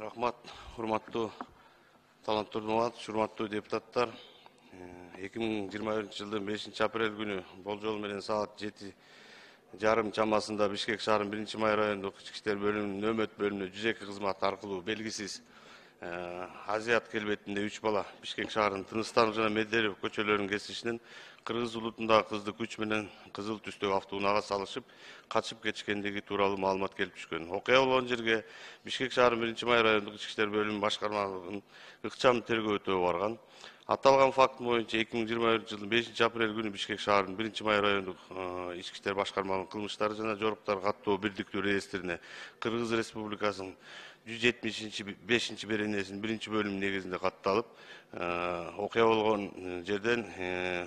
Рахмат, урматтуу таланттуу Нурматович, урматтуу депутаттар. 2021 жылдын 5 апрель күнү болжол менен саат 7:30 чамасында Бишкек шаарынын 1-Май райондук ички иштер бөлүмүнүн нөөмөт бөлүмүнө 102 кызмат аркылуу белгисиз Азият келбетинде 3 бала Бишкек шаарынын Тыныстанов жана Медерев көчөлөрүнүн кесишинен кыргыз улутундагы кызды күч менен кызыл түстөгү автоунаага салышып качып кетишкендиги тууралуу маалымат келип түшкөн. Окуя болгон жерге Бишкек шаарынын 1-Май райондук ички иштер бөлүмүнүн башкармалыгынын ыкчам тергөө өтөө барган. Аталган факт боюнча 2021 жылдын 5 апрель күнү Бишкек шаарынын 1-Май райондук ички иштер башкармалыгынын кылмыштар жана жоруктар каттоо бирдиктүү реестрине Кыргыз Республикасынын 175 беренесинин 1-бөлүмү негизинде катталып, окуя болгон жерден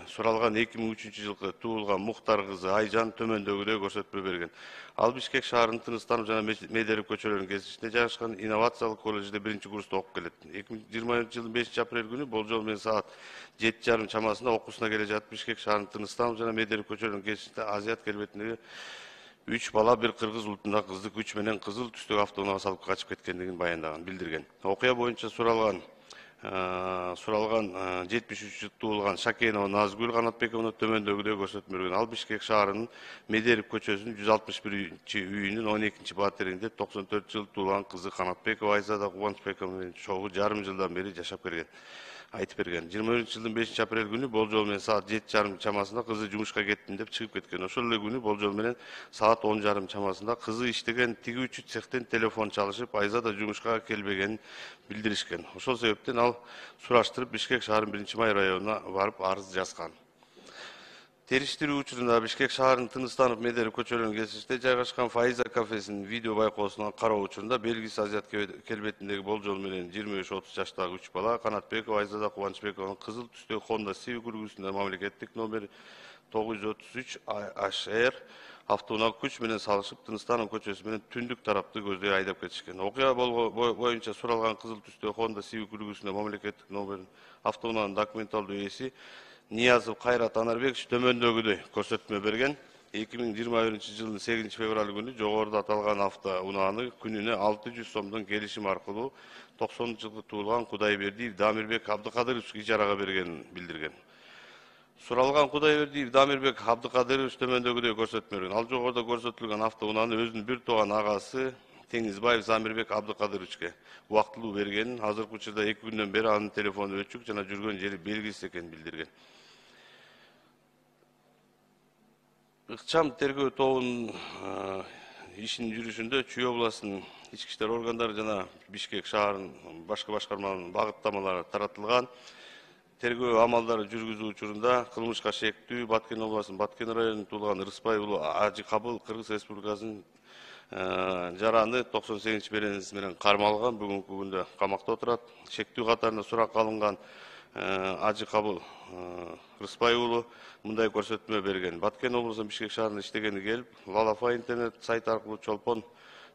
суралган 2003 жылкы туулган Мухтар кызы Айжан төмөндөгүдөй көрсөтмө берген. Ал Бишкек шаарынын Тыныстанов жана Медерев көчөлөрүнүн кесишинде жайгашкан инновациялык колледжде 1-курста окуп келет. 2021 жылдын 5 апрель күнү болжол менен саат 7:30 чамасында окуусуна келе жатып Бишкек шаарынын Тыныстанов жана Медерев көчөлөрүнүн кесишинде Азият келбетиндеги 3 бала бир кыргыз улутундагы кызды күч менен кызыл түстөгү автоунаага салып качып кеткендигин баяндаган, билдирген. Окуя боюнча суралган 73 жыл туулган Шакенова Назгүл Канатбековна төмөндөгүдөй көрсөтмө берген. Ал Бишкек шаарынын Медерев көчөсүнүн 161-үйүнүн 12-батиринде 94 жыл туулган кызы Канатбекова Айзада Кубанычбековна менен чогуу жарым жылдан бери жашап келген. Айтып берген. 21 жылдын 5 апрель күнү болжол менен саат 7:30 чамасында кызы жумушка кеттим деп чыгып кеткен. Ошол эле күнү болжол менен саат 10:30 чамасында кызы иштеген тигүүчү цехтен телефон чалышып, Айзада жумушка келбегенин билдиришкен. Ошол себептен ал сураштырып Бишкек шаарынын 1-Май районуна барып арыз жазган. Териштирүү учурунда Бишкек шаарынын Тыныстанов Медерев көчөлөрүнүн кесишинде жайгашкан Фаиза кафесинин видео байкоосуна кароо учурунда белгисиз Азият келбетиндеги болжол менен 25-30 жаштагы 3 бала Канатбекова Айзада Кубанычбекованын кызыл түстөгү Honda Civic үлгүсүндө мамлекеттик номер 933 HR автоунаага күч менен салышып Тыныстанов көчөсү менен түндүк тарапты көздөй айдап кетишкен. Окуя боюнча суралган кызыл түстөгү Honda Civic үлгүсүндө мамлекеттик номер автоунаанын документалдуу ээси Ниязов Кайрат Анарбекович төмөндөгүдөй көрсөтмө берген. 2021 жылдын 8 февраль күнү жогоруда аталган автоунааны күнүнө 600 сомдон келишим аркылуу 90 жылкы туулган Кудайбердиев Дамирбек Абдыкадырович ижарага бергенин билдирген. Суралган Кудайбердиев Дамирбек Абдыкадырович төмөндөгүдөй көрсөтмө берген. Ал жогоруда көрсөтүлгөн автоунааны өзүнүн бир тууган агасы Теңизбаев Замирбек Абдыкадыровичке убактылуу бергенин, азыркы учурда 2 күндөн бери анын телефону өчүк жана жүргөн жери белгисиз экенин билдирген. Ыкчам тергөө тобунун ишинин жүрүшүндө Чүй областынын ички иштер органдары жана Бишкек шаарынын башка башкармаларынын багыттамалары таратылган. Тергөө амалдары жүргүзүү учурунда кылмышка шектүү Баткен областынын Баткен районунда туулган Рыспай уулу Ажыкабыл Кыргыз Республикасынын жараны 98 беренеси менен кармалган, бүгүнкү күндө камакта отурат. Шектүү катарында суракка алынган Ажыкабыл Рыспай уулу мындай көрсөтмө берген. Баткен облусунун Бишкек шаарында иштегени келип, Лалафа интернет сайты аркылуу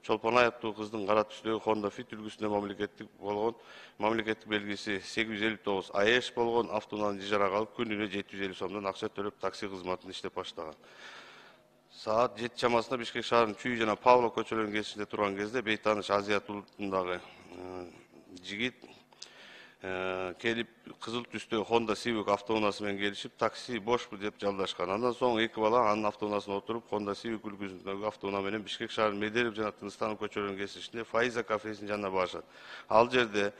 Чолпонай аттуу кыздын кара түстөгү Honda Fit үлгүсүндө мамлекеттик белгиси 859 АЭШ болгон автоунааны ижарага алып, күнүнө 750 сомдон акча төлөп такси кызматын иштеп баштаган. Саат 7 чамасында Бишкек шаарынын Чүй жана Павлов көчөлөрүнүн кесишинде турган кезде бейтааныш Азият улутундагы жигит келип кызыл түстөгү Honda Civic автоунаасы менен келишип, такси бошпу деп жалдашкан. Андан соң 2 бала анын автоунаасына отуруп, Honda Civic үлгүсүндөгү автоунаа менен Бишкек шаарынын Медерев жана Тыныстанов көчөлөрүнүн кесишинде Фаиза кафесинин жанына барышат. Ал жерде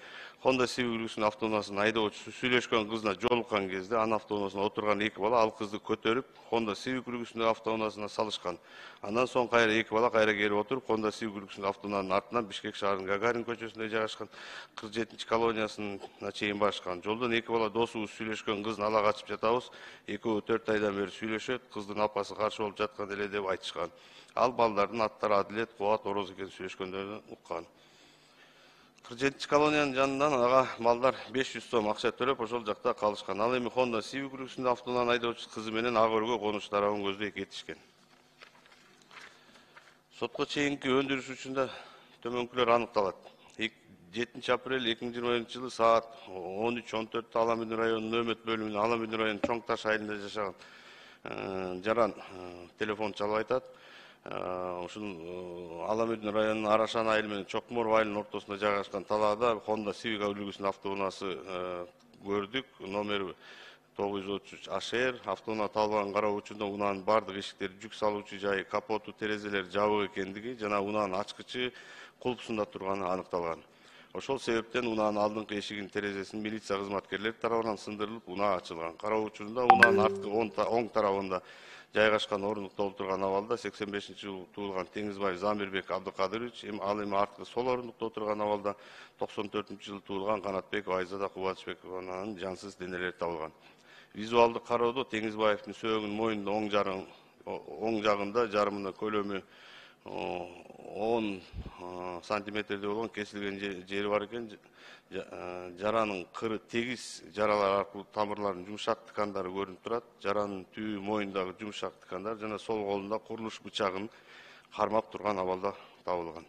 Honda Civic үлгүсүнүн автоунаасынын айдоочусу сүйлөшкөн кызына жолуккан кезде анын автоунаасына отурган 2 бала ал кызды көтөрүп, Honda Civic үлгүсүндөгү автоунаасына салышкан. Андан соң кайра 2 бала кайра келип отуруп, Honda Civic үлгүсүндөгү автоунаанын артынан Бишкек шаарынын Гагарин көчөсүндө жайгашкан 47-колониясына чейин барышкан. Жолдон 2 бала досубуз сүйлөшкөн кыздын ала качып жатабыз, экөө 4 айдан бери сүйлөшөт, кыздын апасы каршы болуп жаткан эле деп айтышкан. Ал балдардын аттары Адилет, Кубат, Ороз экенин сүйлөшкөндөрүн уккан. 47-колониянын жанынан ага балдар 500 сом акча төлөп, ошол жакта калышкан. Ал эми Honda Civic үлгүсүндөгү автоунаанын айдоочусу кызы менен ак өргө конуш тарабын көздөй кетишкен. Сотко чейинки өндүрүш учурунда төмөнкүлөр аныкталат. 7 апрель 2021 жылы саат 13:14 Аламүн районунун нөөмөт бөлүмүнүн Аламүн районунун Чоң Таш айылында жашаган жаран телефон чалып айтат. ушул Аламүдүн районунун Арашан айылы менен Чокмор айылынын ортосунда жайгашкан талаада Honda Civic үлгүсүнүн автоунаасы көрдүк. Номери 933 HR. Автоунаа табылган кароо учурунда унаанын бардык эшиктери, жүк салуучу жайы, капоту, терезелери жабык экендиги жана унаанын ачкычы кулпусунда турганы аныкталган. Ошол себептен унаанын алдыңкы эшигинин терезесин милиция кызматкерлери тарабынан сындырылып, унаа ачылган. Кароо учурунда унаанын арткы оң тарабында жайгашкан орундукта отурган абалда 85-жылы туулган Теңизбаев Замирбек Абдыкадырович, ал эми арткы сол орундукта отурган абалда 94-жылы туулган Канатбекова Айзада Кубатышбекованын жансыз денелери табылган. Визуалдык кароодо Теңизбаевдин сөөгүнүн мойнунун оң жагында жарымына көлөмү 10 сантиметрде болгон кесилген жери бар экен. Жаранын кыры тегиз жаралар аркылуу тамырлардын жумшак тыкандары көрүнүп турат. Жаранын түбү мойнундагы жумшак тыкандар жана сол колунда курулуш бычагын кармап турган абалда табылган.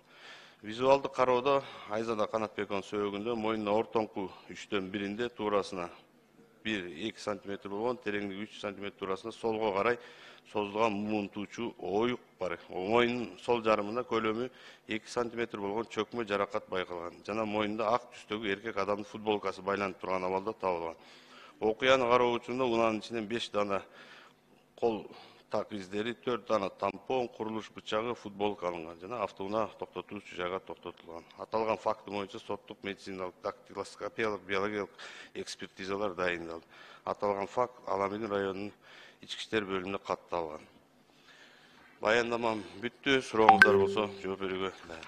Визуалдык кароодо Айзада Канатбекованын сөөгүндө мойнунун ортоңку 3-төн 1-инде туурасына 1-2 сантиметр болгон, тереңдиги 3 сантиметр туурасында солго карай созулган муунтуучу оюк бар. Мойнунун сол жарымында көлөмү 2 сантиметр болгон чөкмө жаракат байкалган жана мойнунда ак түстөгү эркек адамдын футболкасы байланып турган абалда табылган. Окуяны кароо учурунда унаанын ичинен 5 дана кол так издери, 4 дана тампон, курулуш бычагы, футболка алынган жана автоунаа токтотуучу жайга токтотулган. Аталган факты боюнча соттук, медициналык, дактилоскопиялык, биологиялык экспертизалар дайындалды. Аталган факт Аламүдүн районунун ички иштер бөлүмүнө катталган. Баяндамам бүттү. Сурооңуздар болсо жооп берүүгө дайын.